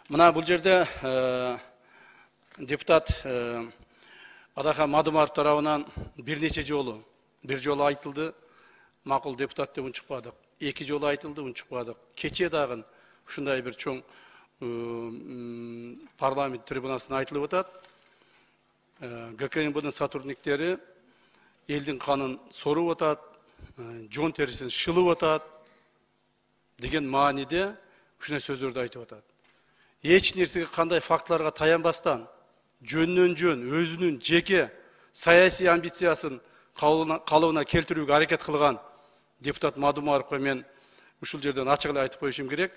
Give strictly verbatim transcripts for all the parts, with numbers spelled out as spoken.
Мына бул жерде депутат Адахан Мадумаров тарабынан бир нече жолу, бир жолу айтылды, макул депутат деп унчукпадык. Эки жолу айтылды, унчукпадык. Кече дагы ушундай бир чоң парламент трибунасына айтылып атат. ГКМБнын сотрудниктери элдин канын соруп атат, жон терисин шылып атат деген мааниде ушундай сөздөрдү айтып атат. Эч нерсеге кандай фактыларга таянбастан, жөндөн жөн өзүнүн жеке саясий амбициясын калыбына келтирүүгө аракет кылган депутат Мадумаровго мен ушул жерден ачык эле айтып коюшум керек.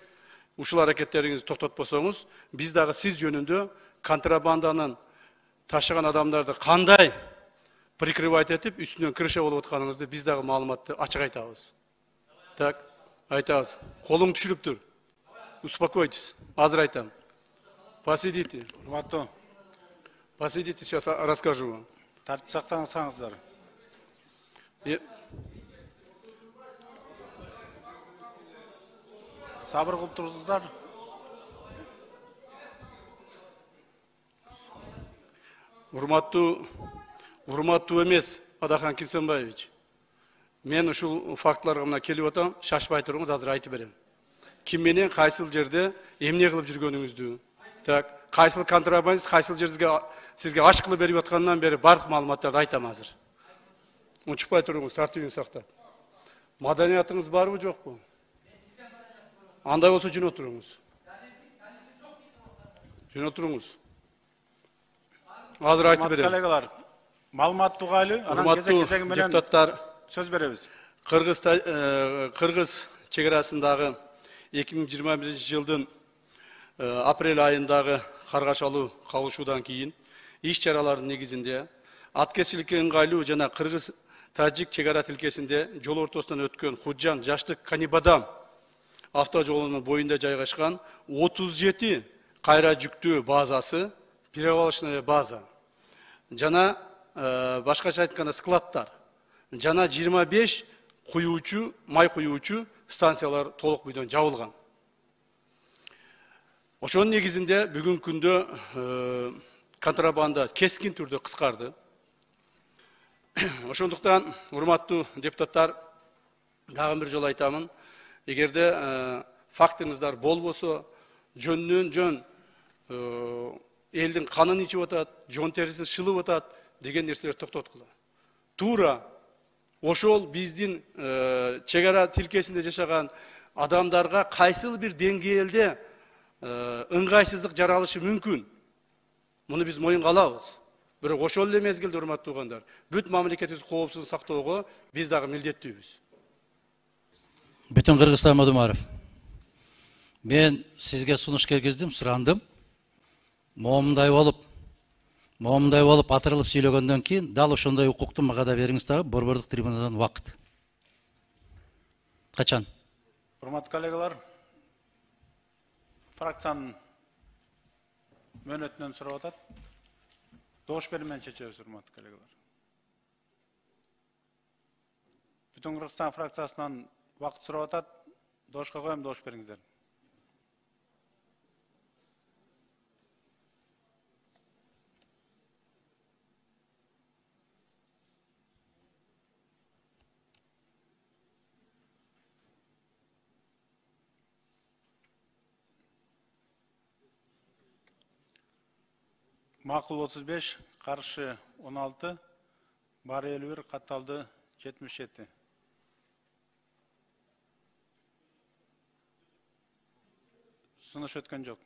Ушул аракеттериңизди токтотпосоңуз, биз дагы сиз жөнүндө контрабанданын ташыган адамдарды кандай прикрывать этип, үстүнөн крыша болуп атканыңызды биз дагы маалыматты ачык айтабыз. Так, айтабыз. Колуң түшүрүп тур. Успокойтесь. Азыр айтам. Посидите. Урматтуу. Посидите, сейчас расскажу вам. Тартип сактаңыздар. Сабыр кылып турсуздар. Урматтуу, урматтуу эмес Адахан Кимсенбаевич. Мен ушул фактыларга мына келип атам, шашпай туруңуз, азыр айтып берем. Ким менен кайсыл жерде эмне кылып жүргөнүңүздү, так, кайсыл контрабандист, кайсыл жерге сизге аш кылып берип аткандан бери бардык маалыматтарды айтам азыр. Унчукпай туруңуз, тартибиңизди сактап. Маданиятыңыз барбы, жокпу? Андай болсо жөн отуруңуз. Жөн отуруңуз. Азыр айтып берем. Коллегалар, маалымат тугайлы, анан кезек-кезеги менен депутаттар сөз беребиз. Кыргыз Кыргыз чегарасындагы эки миң жыйырма биринчи жылдын апрель айындагы каргашалуу кабылышуудан кийин иш чаралардын негизинде аткезчиликке ыңгайлуу жана Кыргыз Тажик чегара тилкесинде жол ортосунан өткөн Худжан Жаштык Канибадам автожолунун боюнда жайгашкан отуз жети кайра жүктөө базасы, перевалочная база жана башкача айтканда складтар жана жыйырма беш куюучу, май куюучу станциялар толук бойдон жабылган. Ошонун негизинде бүгүнкү күндө контрабанда кескин түрдө кыскарды. Ошондуктан, урматтуу депутаттар, дагы бир жолу айтамын, эгерде фактыңыздар болбосо, жөндөн жөн элдин канын ичип атат, жон терисин шылып атат деген нерселерди токтоткула. Туура ошол биздин чегара тилкесинде жашаган адамдарга кайсыл бир деңгээлде ыңгайсыздык жаралышы мүмкүн. Муну биз моюнга алабыз. Бирок ошол эле мезгилде, урматтуу туугандар, бүт мамлекетибиздин коопсуздугун сактоого биз дагы милдеттүүбүз. Бүтүн Кыргызстан Мадумаров. Мен сизге сунуш киргиздим, сурандым. Моомундай болуп, моомундай болуп атырылып сүйлөгөндөн кийин дал ошондой укукту мага да бериңиз дагы, борбордук трибунадан убакыт. Качан? Урматтуу коллегалар, фракциянын мөөнөтүнөн сурап атат. Добуш берүү менен чечебиз, урматтуу коллегалар. Бүтүн Кыргызстан фракциясынан убакыт сурап атат. Добушка коем, добуш бериңиздер. Макул отуз беш, каршы он алты, бар элүү бир, катталды жетимиш жети. Сунуш өткөн жок.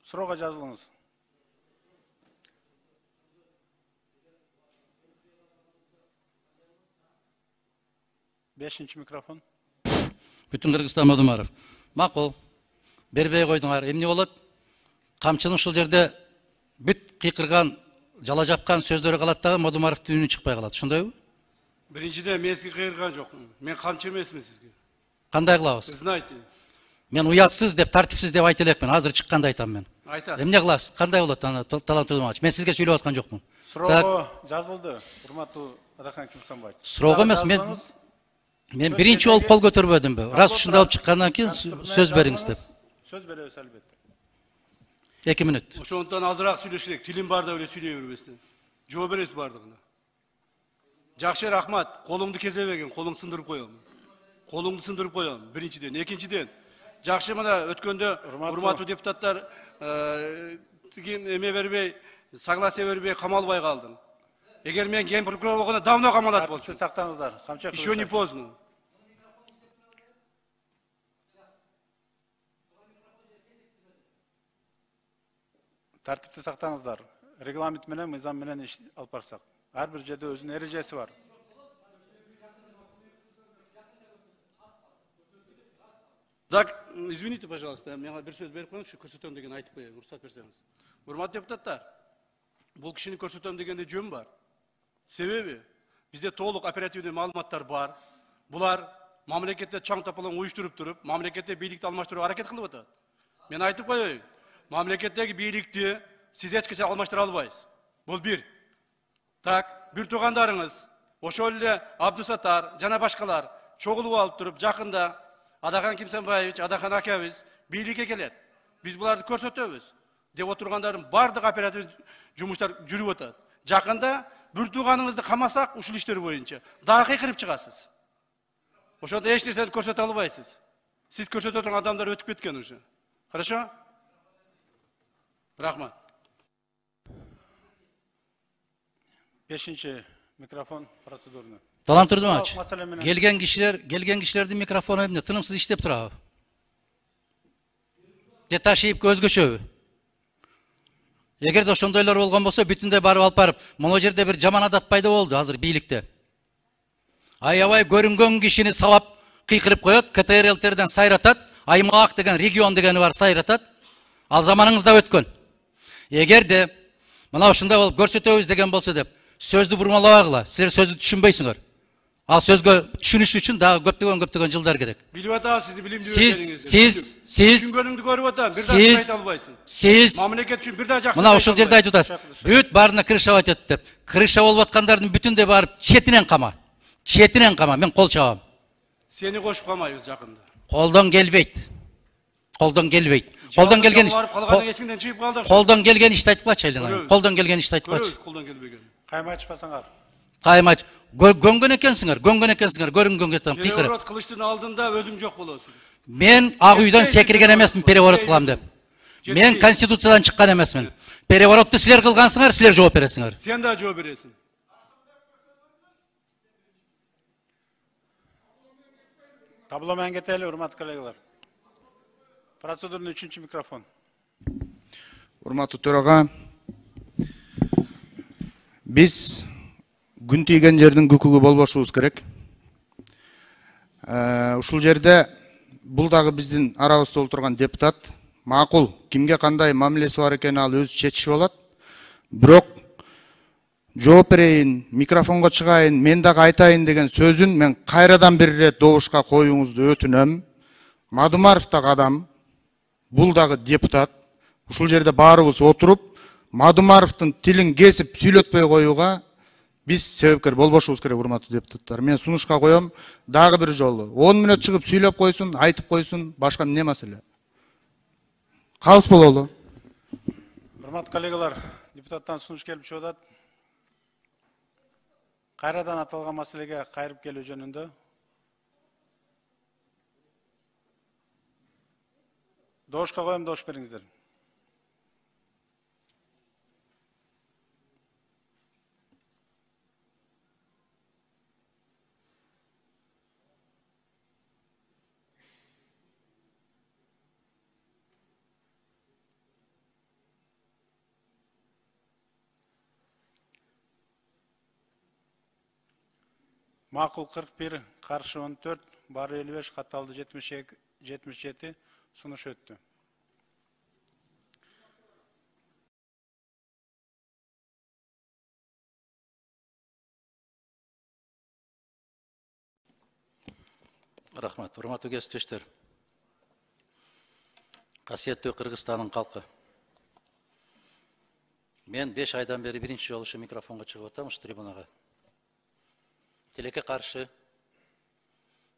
Суроого жазылыңыз. Бешинчи микрофон. Бүтүн Кыргызстан Мадумаров. Макул. Бербей койдуңар. Эмне болот? Камчынын ушул жерде бүт кыйкырган, жала жапкан сөздөрү калат дагы Мадумаровдун үнү чыкпай калат. Ошондойбу? Биринчиден мен сизге кыйырган жокмун. Мен камчы эмесмин сизге. Кандай кылабыз? Знаете. Мен уятсыз деп, тартипсиз деп айта элекмин. Азыр чыкканда айтам мен. Айтасыз. Эмне кыласыз? Кандай болот аны талант Тудумач? Мен сизге сүйлөп аткан жокмун. Суроого жазылды, урматтуу Адахан Кимсенбаевич. Суроого эмес, мен Мен биринчи болуп кол көтөрбөдүмбү? Раз ушундай болуп чыккандан кийин сөз бериңиз деп. Сөз беребиз албетте. эки мүнөт. Ошондон азыраак сүйлөш керек. Тилим бар деп эле сүйлөй бербестен. Жооп бересиз бардыгына. Жакшы, рахмат. Колуңду кезебегин, колуң сындырып коем. Колуңду сындырып коем. Биринчиден, экинчиден. Жакшы, мына өткөндө урматтуу депутаттар тиги эме бербей, согласие бербей камалбай калдың. Эгер мен ген прокурор болгондо давно камалат болчу. Тартипти сактаңыздар. Камчак. Еще не поздно. Тартипти сактаңыздар. Регламент менен, мыйзам менен иш алып барсак. Ар бир жерде өзүнүн эрежеси бар. Так, извините, пожалуйста, мен бир сөз берип коюңузчу, көрсөтөм деген айтып коеюн, уруксат берсеңиз. Урматтуу депутаттар, бул кишини көрсөтөм дегенде жөн бар. Себеби бизде толук оперативдүү маалыматтар бар. Булар мамлекетте чаң тапалаң уюштуруп туруп, мамлекетте бийликти алмаштырууга аракет кылып атат. Мен айтып коеюн, мамлекеттеги бийликти сиз эч качан алмаштыра албайсыз. Бул бир. Так, бир туугандарыңыз, ошол эле Абдусаттар жана башкалар чогулуп алып туруп, жакында Адахан Кимсенбаевич, Адахан акабыз бийликке келет. Биз буларды көрсөтөбүз деп отургандардын бардык оператив жумуштар жүрүп атат. Жакында бир тууганыңызды камасак, ушул иштер боюнча дагы кыйкырып чыгасыз. Ошондо эч нерсени көрсөтө албайсыз. Сиз көрсөтө турган адамдар өтүп кеткен уже. Хорошо? Рахмат. Бешинчи микрофон процедурный. Талант Турдумович, келген кишилер, келген кишилердин микрофону эмне тынымсыз иштеп турабы? Же ташыйып өзгөчөбү? Эгерде ошондойлор болгон болсо, бүтүндөй барып алып барып, могу жерде бир жаман адат пайда болду азыр бийликте. Аябай көрүнгөн кишини сабап кыйкырып коет, КТРЛтерден сайратат, аймак деген, регион дегени бар сайратат. Ал заманыңызда өткөн. Эгерде мына ушундай болуп көрсөтөбүз деген болсо деп, сөздү бурмалабагыла, силер сөздү түшүнбөйсүңөр. Ал сөзгө түшүнүш үчүн дагы көптөгөн көптөгөн жылдар керек. Билип атабыз сизди билимдүү экениңизди. Сиз, сиз, түшүнгөнүңдү көрүп атам, бир дагы айта албайсың. Сиз, мамлекет үчүн бир дагы жакшы. мына ушул жерде айтып атасыз. Бүт баарына крышавать этип деп. Крыша болуп аткандардын бүтүндөй барып четинен кама. Четинен кама, мен кол чабам. Сени кошуп калмайбыз жакында. Колдон келбейт. Колдон келбейт. Колдон келген Колдон келген ишти айтып калчы Айлана. Колдон келген ишти айтып калчы. Колдон келбеген. Кайма ачпасаңар. Кайма гөнгөн экенсиңер, гөнгөн экенсиңер, көрүнгөнгө там кыйкырып. Переворот кылыштын алдында өзүң жок болосуң. Мен ак үйдөн секирген эмесмин переворот кылам деп. Мен конституциядан чыккан эмесмин. Переворотту силер кылгансыңар, силер жооп бересиңер. Сен да жооп бересиң. Табло менен кетели, урматтуу коллегалар. Процедурный үчүнчү микрофон. Урматтуу төрага, биз күн тийген жердин күкүгү болбошубуз керек. Ушул жерде бул дагы биздин арабызда отурган депутат, макул, кимге кандай мамилеси бар экенин ал өзү чечиши болот. Бирок жооп берейин, микрофонго чыгайын, мен дагы айтайын деген сөзүн мен кайрадан бир ирет добушка коюңузду өтүнөм. Мадумаров дагы адам, бул дагы депутат. Ушул жерде баарыбыз отуруп, Мадумаровдун тилин кесип сүйлөтпөй коюуга биз себепкер болбошубуз керек, урматтуу депутаттар. Мен сунушка коем, дагы бир жолу он мүнөт чыгып сүйлөп койсун, айтып койсун, башка эмне маселе. Калыс бололу. Урматтуу коллегалар, депутаттан сунуш келип чыгып атат. Кайрадан аталган маселеге кайрып келүү жөнүндө. Добушка коем, добуш бериңиздер. Макул кырк бир, каршы он төрт, бары элүү беш, катталды жетимиш жети, сунуш өттү. Рахмат, урматтуу кесиптештер. Касиеттүү Кыргызстандын калкы. Мен беш айдан бери биринчи жолу ушу микрофонго чыгып атам, ушу трибунага. Тилекке каршы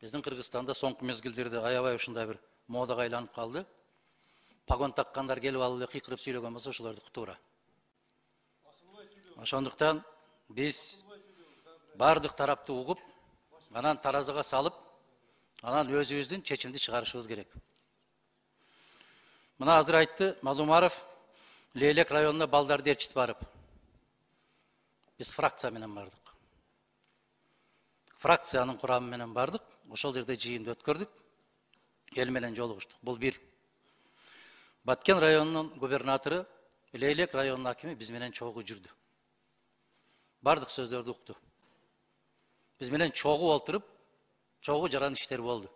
Биздин Кыргызстанда соңку мезгилдерде аябай ушундай бир модага айланып калды. Погон таккандар келип алып эле кыйкырып сүйлөгөн болсо ошолордуку туура. Ошондуктан биз бардык тарапты угуп, анан таразыга салып, анан өзүбүздүн чечимди чыгарышыбыз керек. Мына азыр айтты Мадумаров, Лейлек районуна балдарды ээрчитип барып. Биз фракция менен бардык. Фракциянын курамы менен бардык. Ошол жерде жыйынды өткөрдүк. Эл менен жолугуштук. Бул бир. Баткен районунун губернатору, Лейлек районунун акими биз менен чогуу жүрдү. Бардык сөздөрдү укту. Биз менен чогуу олтуруп, чогуу жаран иштер болду.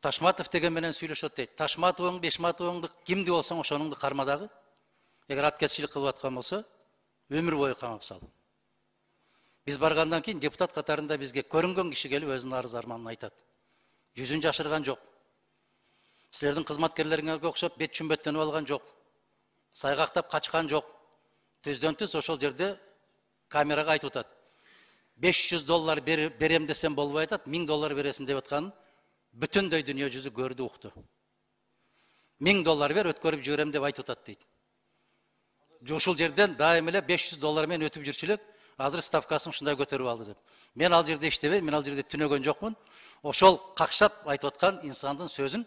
Ташматов деген менен сүйлөшөт дейт. Ташматовуң, Бешматовуңду кимди болсоң ошонуңду карма дагы. Эгер аткезчилик кылып аткан болсо, өмүр бою камап сал. Биз баргандан кийин депутат катарында бизге көрүнгөн киши келип өзүнүн арыз арманын айтат. Жүзүн жашырган жок. Силердин кызматкерлериңерге окшоп бет чүмбөттөнүп алган жок. Сайгактап качкан жок. Түздөн түз ошол жерде камерага айтып атат. беш жүз доллар берем десем болбой атат, миң доллар бересиң деп атканын бүтүндөй дүйнө жүзү көрдү, укту. миң доллар бер, өткөрүп жиберем деп айтып атат дейт. Ушул жерден дайым эле беш жүз доллар менен өтүп жүрчүлүк, азыр ставкасын ушундай көтөрүп алды деп. Мен ал жерде иштебейм, мен ал жерде түнөгөн жокмун. Ошол какшап айтып аткан инсандын сөзүн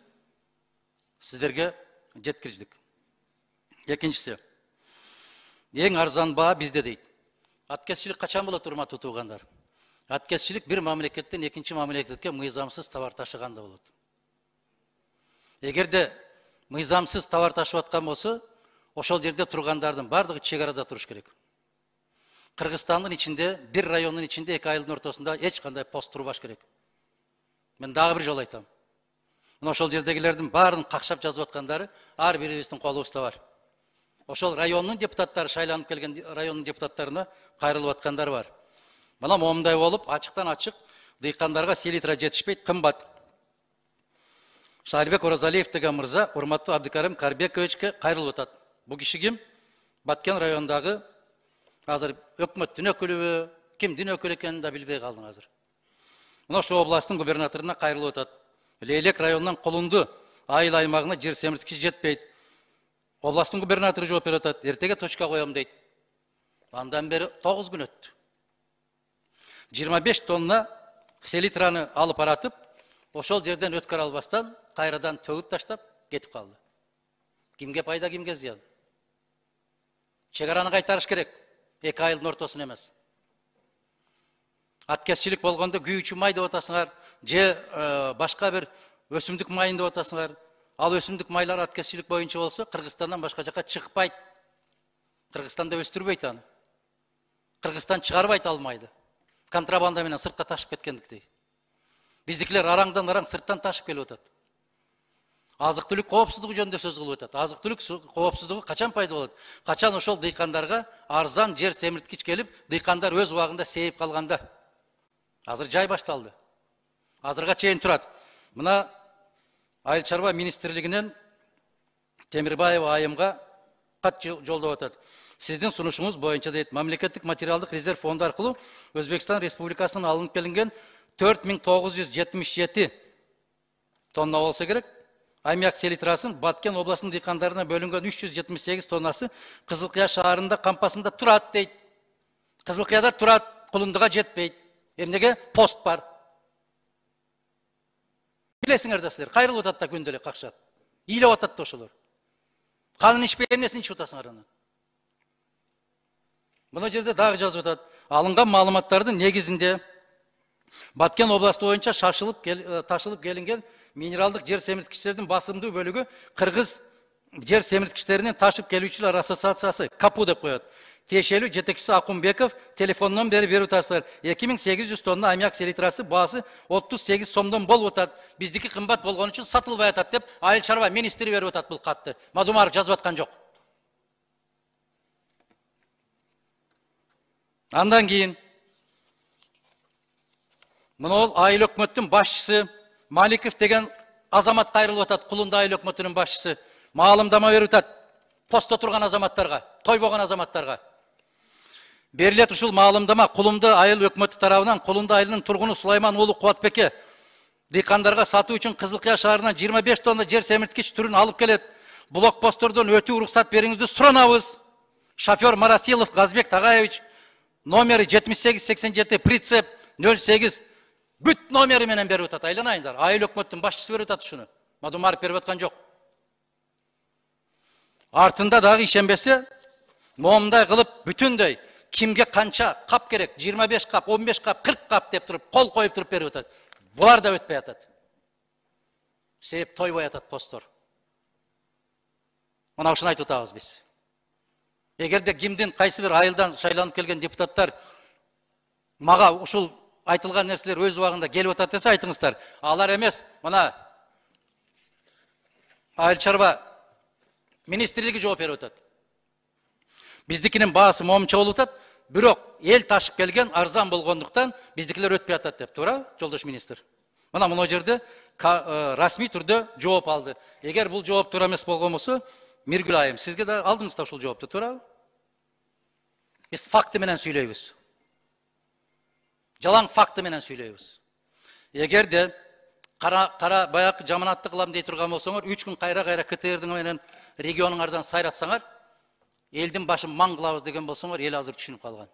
сиздерге жеткирдик. Экинчиси, эң арзан баа бизде дейт. Аткезчилик качан болот, урматтуу туугандар? Аткезчилик бир мамлекеттен экинчи мамлекетке мыйзамсыз товар ташыганда болот. Эгерде мыйзамсыз товар ташып аткан болсо, ошол жерде тургандардын бардыгы чек арада туруш керек. Кыргызстандын ичинде, бир райондун ичинде эки айылдын ортосунда эч кандай пост турбаш керек. Мен дагы бир жолу айтам. Мына ошол жердегилердин баарын какшап жазып аткандары ар бирибиздин колубузда бар. Ошол райондун депутаттары, шайланып келген райондун депутаттарына кайрылып аткандар бар. Мына момундай болуп, ачыктан ачык дыйкандарга селитра жетишпейт, кымбат. Шарибек Оразалиев деген мырза урматтуу Абдыкарим Карбековичке кайрылып атат. Бул киши ким? Баткен районундагы азыр өкмөттүн өкүлүбү, кимдин өкүлү экенин да билбей калдым азыр. Мына ошо областтын губернаторуна кайрылып атат. Лейлек районунан Колунду айыл аймагына жер семирткич жетпейт. Областтын губернатору жооп берип атат. Эртеге точка коем дейт. Андан бери тогуз күн өттү. жыйырма беш тонна селитраны алып баратып, ошол жерден өткөрө албастан кайрадан төгүп таштап кетип калды. Кимге пайда, кимге зыян? Чек араны кайтарыш керек. Эки айылдын ортосун эмес. Аткезчилик болгондо күйүүчү май деп атасыңар, же башка бир өсүмдүк майын деп атасыңар. Ал өсүмдүк майлар аткезчилик боюнча болсо, Кыргызстандан башка жака чыкпайт. Кыргызстанда өстүрбөйт аны. Кыргызстан чыгарбайт ал майды. Контрабанда менен сыртка ташып кеткендиктей. Биздикилер араңдан араң сырттан ташып келип атат. Азык-түлүк коопсуздугу жөнүндө сөз кылып атат. Азык-түлүк коопсуздугу качан пайда болот? Качан ошол дыйкандарга арзан жер семирткич келип, дыйкандар өз убагында сейип калганда. Азыр жай башталды. Азырга чейин турат. Мына Айыл чарба министрлигинен Темирбаева айымга кат жолдоп атат. Сиздин сунушуңуз боюнча дейт, мамлекеттик материалдык резерв фонду аркылуу Өзбекстан Республикасынан алынып келинген төрт миң тогуз жүз жетимиш жети тонна болсо керек. Аммиак селитрасын Баткен областынын дыйкандарына бөлүнгөн үч жүз жетимиш сегиз тоннасы Кызылкыя шаарында кампасында турат дейт. Кызылкыяда турат, Кулундуга жетпейт. Эмнеге? Пост бар. Билесиңер да силер, кайрылып атат да күндө эле какшап. Ыйлап атат да ошолор. Канын ичпей эмнесин ичип атасыңар аны? Мына жерде дагы жазып атат. Алынган маалыматтардын негизинде Баткен областы боюнча шашылып ташылып келинген минералдык жер семирткичтердин басымдуу бөлүгү Кыргыз жер семирткичтеринин ташып келүүчүлөр ассоциациясы КАПУ деп коет. Тиешелүү жетекчиси Акунбеков телефондон бери берип атасыздар. эки миң сегиз жүз тонна аммиак селитрасы баасы отуз сегиз сомдон болуп атат. Биздики кымбат болгон үчүн сатылбай атат деп айыл чарба министри берип атат бул катты. Мадумаров жазып аткан жок. Андан кийин мына ол айыл өкмөттүн башчысы Маликов деген азамат кайрылып атат. Кулунда айыл өкмөтүнүн башчысы маалымдама берип атат. Постто турган азаматтарга, тойбогон азаматтарга. Берилет ушул маалымдама Кулумду айыл өкмөтү тарабынан Кулумду айылынын тургуну Сулайман уулу Кубатбекке дыйкандарга сатуу үчүн Кызылкыя шаарынан жыйырма беш тонна жер семирткич түрүн алып келет. Блокпосттордон өтүү уруксат бериңизди суранабыз. Шофер Марасилов Газбек Тагаевич, номери жетимиш сегиз сексен жети, прицеп нөл сегиз, бүт номери менен берип атат. Айланайындар. Айыл өкмөттүн башчысы берип атат ушуну. Мадумаров берип аткан жок. Артында дагы ишенбесе, момундай кылып бүтүндөй кимге канча кап керек, жыйырма беш кап, он беш кап, кырк кап деп туруп, кол коюп туруп берип атат. Булар да өтпөй атат. Себеп тойбой атат посттор. Мына ушуну айтып атабыз биз. Эгерде кимдин кайсы бир айылдан шайланып келген депутаттар мага ушул айтылган нерселер өз убагында келип атат десе айтыңыздар. Алар эмес, мына айыл чарба министрлиги жооп берип атат. Биздикинин баасы момунча болуп атат, бирок эл ташып келген арзан болгондуктан биздикилер өтпөй атат деп, туура, жолдош министр? Мына мына жерде расмий түрдө жооп алды. Эгер бул жооп туура эмес болгон болсо, Миргүл айым, сизге да алдыңыз да ушул жоопту, туура? Биз факты менен сүйлөйбүз. Жалаң факты менен сүйлөйбүз. Эгерде кара кара баягы жаманатты кылам дей турган болсоңор, үч күн кайра-кайра КТРдин менен регионуңардан сайратсаңар, элдин башын маң кылабыз деген болсоңор, эл азыр түшүнүп калган.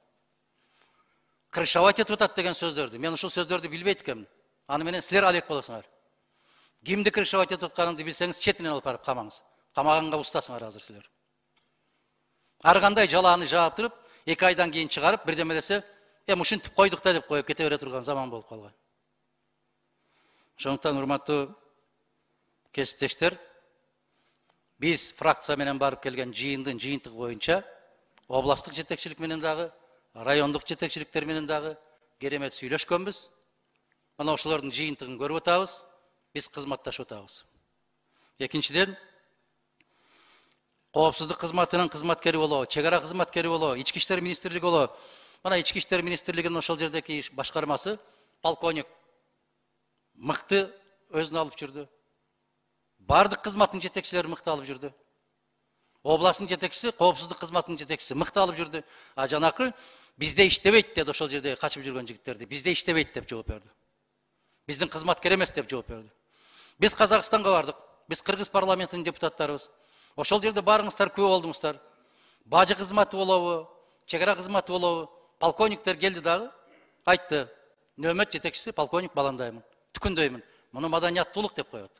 Крышавать этип атат деген сөздөрдү. Мен ушул сөздөрдү билбейт экенмин. Аны менен силер алек болосуңар. Кимди крышавать этип атканыңды билсеңиз, четинен алып барып камаңыз. Камаганга устасыңар азыр силер. Ар кандай жалааны жаап туруп, эки айдан кийин чыгарып, бирдеме десе, эм ушинтип койдук да деп коюп кете бере турган заман болуп калган. Ошондуктан урматтуу кесиптештер, биз фракция менен барып келген жыйындын жыйынтыгы боюнча областтык жетекчилик менен дагы, райондук жетекчиликтер менен дагы керемет сүйлөшкөнбүз. Мына ошолордун жыйынтыгын көрүп атабыз, биз кызматташып атабыз. Экинчиден, коопсуздук кызматынын кызматкери болобу, чек ара кызматкери болобу, ички иштер министрлиги болобу. Мына ички иштер министрлигинин ошол жердеги башкармасы полковник мыкты өзүнө алып жүрдү. Бардык кызматтын жетекчилери мыкты алып жүрдү. Областын жетекчиси, коопсуздук кызматынын жетекчиси мыкты алып жүрдү. А жанакы бизде иштебейт деди ошол жерде качып жүргөн жигиттерди. Бизде иштебейт деп жооп берди. Биздин кызматкер эмес деп жооп берди. Биз Казакстанга бардык. Биз Кыргыз парламентинин депутаттарыбыз. Ошол жерде барыңыздар, күбө болдуңуздар. Бажы кызматы болобу, чек ара кызматы болобу, полковниктер келди дагы, айтты. Нөмөт жетекчиси полковник Баландаймын. Түкүндөймүн. Муну маданияттуулук деп коет.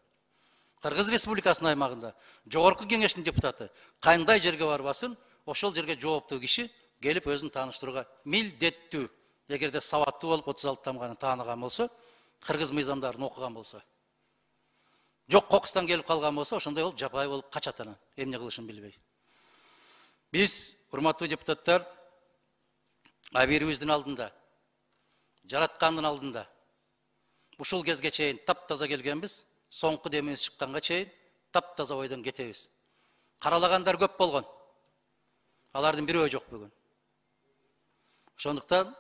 Кыргыз Республикасынын аймагында жогорку кеңештин депутаты кандай жерге барбасын, ошол жерге жооптуу киши келип өзүн тааныштырууга милдеттүү. Эгерде сабаттуу болуп отуз алты тамганы тааныган болсо, кыргыз мыйзамдарын окуган болсо. Жок кокустан келип калган болсо, ошондой болуп жапай болуп качат анан, эмне кылышын билбей. Биз, урматтуу депутаттар, абийирибиздин алдында, жараткандын алдында ушул кезге чейин таптаза келгенбиз, соңку демибиз чыкканга чейин таптаза ойдон кетебиз. Каралагандар көп болгон. Алардын бирөө жок бүгүн. Ошондуктан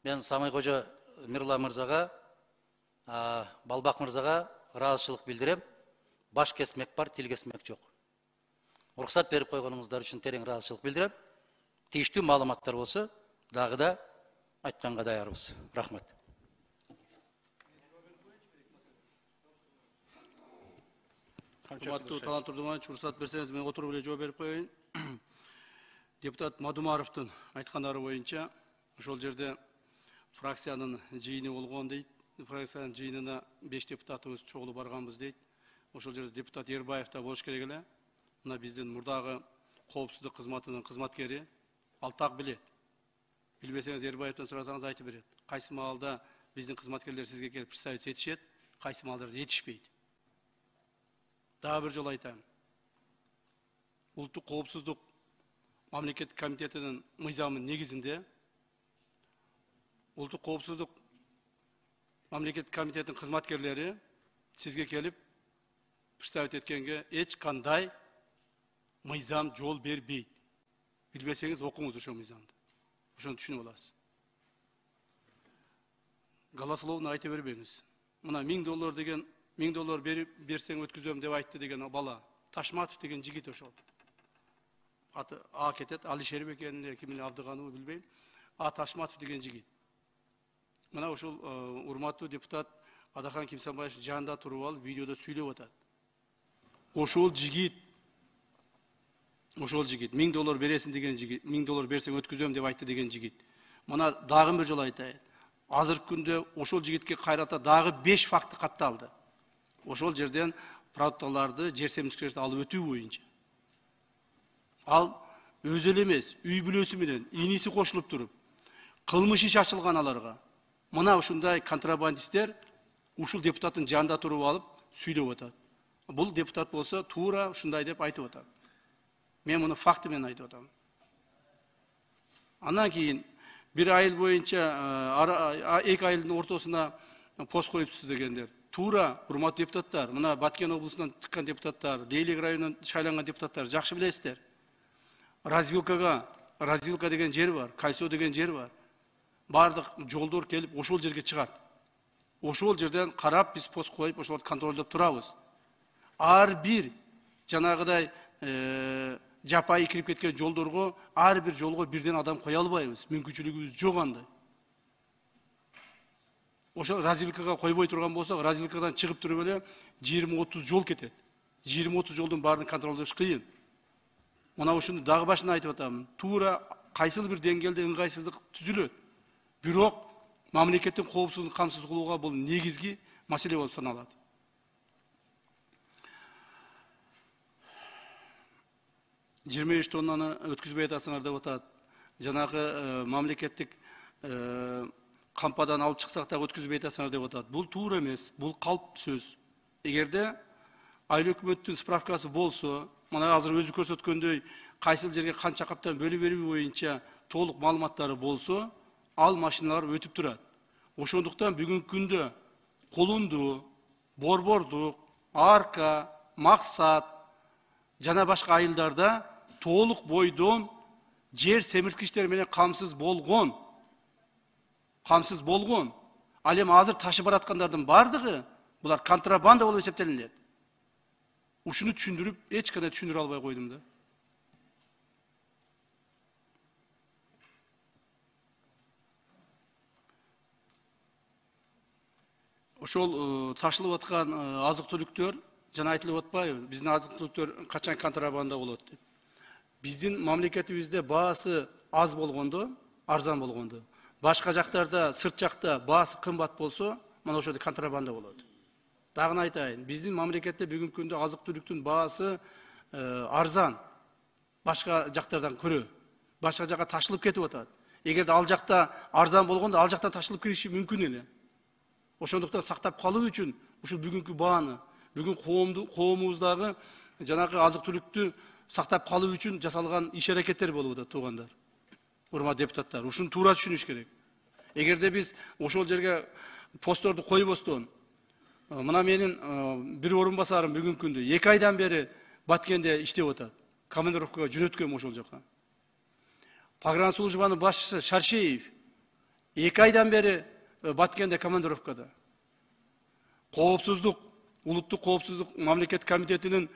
мен Самый кожо Мирулла мырзага, Балбак мырзага ыраазычылык билдирем. Баш кесмек бар, тил кесмек жок. Уруксат берип койгонуңуздар үчүн терең ыраазычылык билдирем. Тийиштүү маалыматтар болсо, дагы да айтканга даярбыз. Рахмат. Урматтуу Талант Турдуманович, уруксат берсеңиз мен отуруп эле жооп берип коеюн. Депутат Мадумаровдун айткандары боюнча ошол жерде фракциянын жыйыны болгон дейт. Фракциянын жыйынына беш депутатыбыз чогулу барганбыз дейт. Ошол жерде депутат Эрбаев да болуш керек эле. Мына биздин мурдагы коопсуздук кызматынын кызматкери ал так билет. Билбесеңиз Эрбаевден сурасаңыз айтып берет. Кайсы маалда биздин кызматкерлер сизге келип представить этишет, кайсы маалдарда этишпейт. Дагы бир жолу айтам. Улуттук коопсуздук мамлекеттик комитетинин мыйзамынын негизинде улуттук коопсуздук мамлекеттик комитетинин кызматкерлери сизге келип представить эткенге эч кандай мыйзам жол бербейт. Билбесеңиз окуңуз ошол мыйзамды. Ошону түшүнүп аласыз. Голословно айта бербеңиз. Мына миң доллар деген миң доллар берип берсең өткүзөм деп айтты деген бала. Ташматов деген жигит ошол. Аты А кетет, Алишер бекенин, кимин Абдыганов билбейм. А Ташматов деген жигит. Мына ошол урматтуу депутат Адахан Кимсанбаев жанында туруп алып видеодо сүйлөп атат. Ошол жигит ошол жигит миң доллар бересиң деген жигит, миң доллар берсең өткүзөм деп айтты деген жигит. Мына дагы бир жолу айтайын. Азыркы күндө ошол жигитке кайрата дагы беш факты катталды. Ошол жерден продукталарды, жер семчиликтерди алып өтүү боюнча. Ал өзү эле эмес, үй бүлөсү менен иниси кошулуп туруп, кылмыш иш ачылган аларга. Мына ушундай контрабандисттер ушул депутаттын жанында туруп алып сүйлөп атат. Бул депутат болсо туура ушундай деп айтып атат. Мен муну факты менен айтып атам. Андан кийин бир айыл боюнча эки айылдын ортосуна пост коюпсуз дегендер. Туура, урматтуу депутаттар, мына Баткен облусунан чыккан депутаттар, Дейлик районунан шайланган депутаттар жакшы билесиздер. Развилкага, развилка деген жер бар, Кайсо деген жер бар. Бардык жолдор келип ошол жерге чыгат. Ошол жерден карап биз пост коюп, ошолорду контролдоп турабыз. Ар бир жанагыдай жапайы кирип кеткен жолдорго, ар бир жолго бирден адам кое албайбыз. Мүмкүнчүлүгүбүз жок андай. Ошол развилкага койбой турган болсок, развилкадан чыгып туруп эле жыйырма отуз жол кетет. жыйырма отуз жолдун баарын контролдош кыйын. Мына ушуну дагы башынан айтып атам. Туура кайсыл бир деңгээлде ыңгайсыздык түзүлөт. Бирок мамлекеттин коопсуздугун камсыз кылууга бул негизги маселе болуп саналат. жыйырма үч тоннаны өткүзбөй атасыңар деп атат. Жанагы мамлекеттик кампадан алып чыксак да өткүзбөй атасыңар деп атат. Бул туура эмес, бул калп сөз. Эгерде айыл өкмөттүн справкасы болсо, мына азыр өзү көрсөткөндөй кайсыл жерге канча каптан бөлүп берүү боюнча толук маалыматтары болсо, ал машиналар өтүп турат. Ошондуктан бүгүнкү күндө Колунду, Борбордук, Арка, Максат жана башка айылдарда толук бойдон жер семирткичтер менен камсыз болгон. Камсыз болгон. Ал эми азыр ташып бараткандардын бардыгы булар контрабанда болуп эсептелинет. Ушуну түшүндүрүп, эч кандай түшүндүрө албай койдум да. Ошол ташылып аткан азык-түлүктөр жана айтылып атпайбы? Биздин азык-түлүктөр качан контрабанда болот деп. Биздин мамлекетибизде баасы аз болгондо, арзан болгондо, башка жактарда, сырт жакта баасы кымбат болсо, мына ошол контрабанда болот. Дагы айтайын, биздин мамлекетте бүгүнкү күндө азык-түлүктүн баасы арзан, башка жактардан көрө. Башка жакка ташылып кетип атат. Эгерде ал жакта арзан болгондо, ал жактан ташылып кириши мүмкүн эле. Ошондуктан сактап калуу үчүн ушул бүгүнкү бааны, бүгүн коомубуздагы жанагы азык-түлүктү сактап калуу үчүн жасалган иш-аракеттер болуп атат, туугандар. Урматтуу депутаттар, ушуну туура түшүнүш керек. Эгерде биз ошол жерге постторду койбостон, мына менин бир орун басарым бүгүнкү күндө эки айдан бери Баткенде иштеп атат. Командировкага жөнөткөм ошол жака. Погранслужбанын башчысы Шаршеев эки айдан бери Баткенде командировкада. Коопсуздук, улуттук коопсуздук мамлекет комитетинин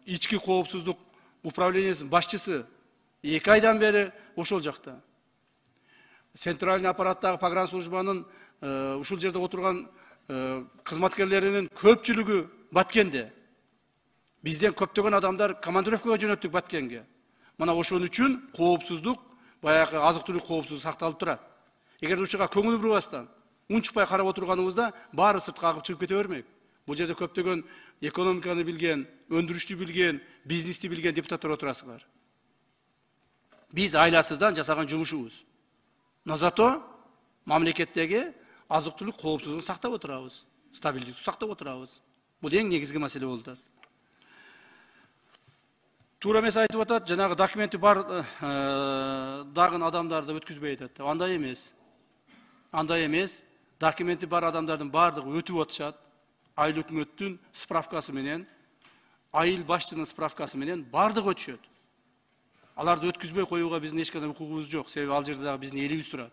ички коопсуздук управлениясынын башчысы эки айдан бери ошол жакта. Центральный аппараттагы погранслужбанын ушул жерде отурган кызматкерлеринин көпчүлүгү Баткенде. Бизден көптөгөн адамдар командировкага жөнөттүк Баткенге. Мына ошон үчүн коопсуздук, баягы азык-түлүк коопсуздугу сакталып турат. Эгерде ушуга көңүл бурбастан, унчукпай карап отурганыбызда баары сыртка агып чыгып кете бермек. Бул жерде көптөгөн экономиканы билген, өндүрүштү билген, бизнести билген депутаттар отурасыңар. Биз айласыздан жасаган жумушубуз. Но зато мамлекеттеги азык-түлүк коопсуздугун сактап отурабыз, стабилдикти сактап отурабыз. Бул эң негизги маселе болуп атат. Туура эмес айтып атат, жанагы документи бар дагы адамдарды өткүзбөй атат. Андай эмес. Андай эмес. Документи бар адамдардын бардыгы өтүп атышат. Айыл өкмөттүн справкасы менен, айыл башчынын справкасы менен бардыгы өтүшөт. Аларды өткүзбөй коюуга биздин эч кандай укугубуз жок, себеби ал жерде дагы биздин элибиз турат.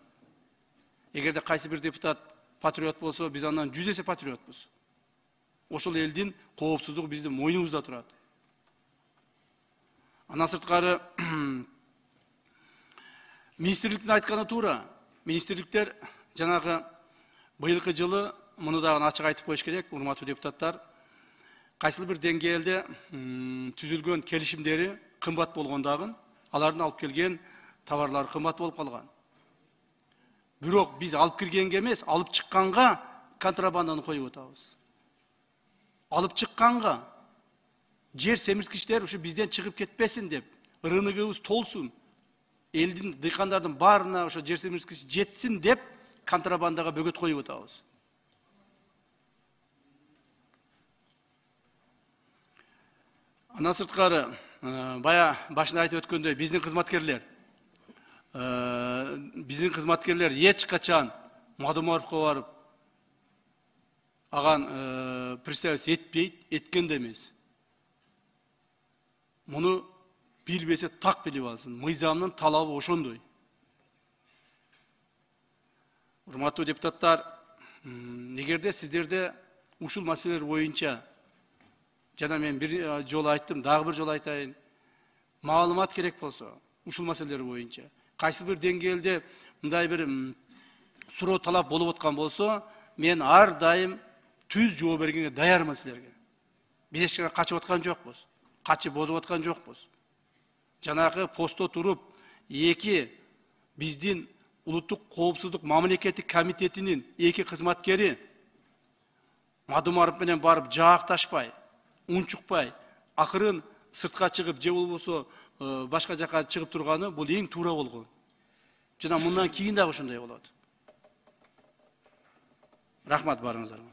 Эгерде кайсы бир депутат патриот болсо, биз андан жүз эсе патриотпуз. Ошол элдин коопсуздугу биздин мойнубузда турат. Андан сырткары Министрликтин айтканы туура. Министрликтер жанагы быйылкы жылы муну дагы ачык айтып коюш керек, урматтуу депутаттар. Кайсыл бир деңгээлде түзүлгөн келишимдери кымбат болгондагы, алардын алып келген товарлары кымбат болуп калган. Бирок биз алып киргенге эмес, алып чыкканга контрабанданы коюп атабыз. Алып чыкканга жер семирткичтер ушу бизден чыгып кетпесин деп, рыногубуз толсун, элдин, дыйкандардын баарына ошо жер семирткич жетсин деп контрабандага бөгөт коюп атабыз. Андан сырткары, бая башында айтып өткөндөй, биздин кызматкерлер, биздин кызматкерлер эч качан Мадумаровго барып, аган представить этпейт, эткен да эмес. Муну билбесе так билип алсын. Мыйзамдын талабы ошондой. Урматтуу депутаттар, эгерде сиздерде ушул маселелер боюнча, жана мен бир жолу айттым, дагы бир жолу айтайын, маалымат керек болсо, ушул маселелер боюнча, кайсы бир деңгээлде мындай бир суроо талап болуп аткан болсо, мен ар дайым түз жооп бергенге даярмын силерге. Биз эч качан качып аткан жокпуз, качып бозуп аткан жокпуз. Жанагы постто туруп, эки биздин улуттук коопсуздук мамлекеттик комитетинин эки кызматкери Мадумаров менен барып жаакташпай, унчукпай, акырын сыртка чыгып, же болбосо башка жака чыгып турганы бул эң туура болгон. Жана мындан кийин дагы ошондой болот. Рахмат барыңыздарга.